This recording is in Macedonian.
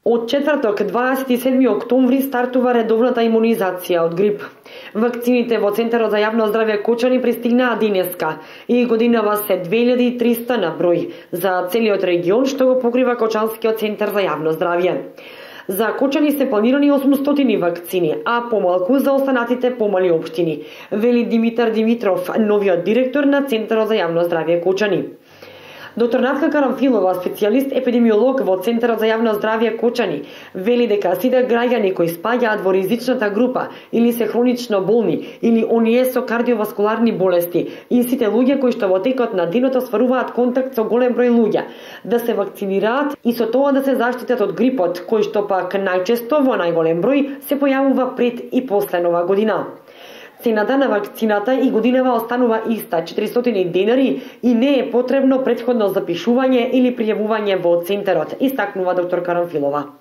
Од четврток, 27 октомври, стартува редовната имунизација од грип. Вакцините во Центарот за јавно здравје Кочани пристигнаа денеска и годинава се 2300 на број за целиот регион што го покрива Кочанскиот центар за јавно здравје. За Кочани се планирани 800 вакцини, а помалку за останатите помали општини, вели Димитар Димитров, новиот директор на Центарот за јавно здравје Кочани. Доктор Натка Карамфилова, специјалист епидемиолог во Центарот за јавно здравје Кочани, вели дека сите граѓани кои спаѓаат во ризичната група или се хронично болни или оние со кардиоваскуларни болести и сите луѓе кои што во текот на денот остваруваат контакт со голем број луѓе, да се вакцинираат и со тоа да се заштитат од грипот, кој што пак најчесто во најголем број се појавува пред и после Нова година. Цената на вакцината и годинава останува иста, 400 денари, и не е потребно претходно запишување или пријавување во центарот, истакнува доктор Карамфилова.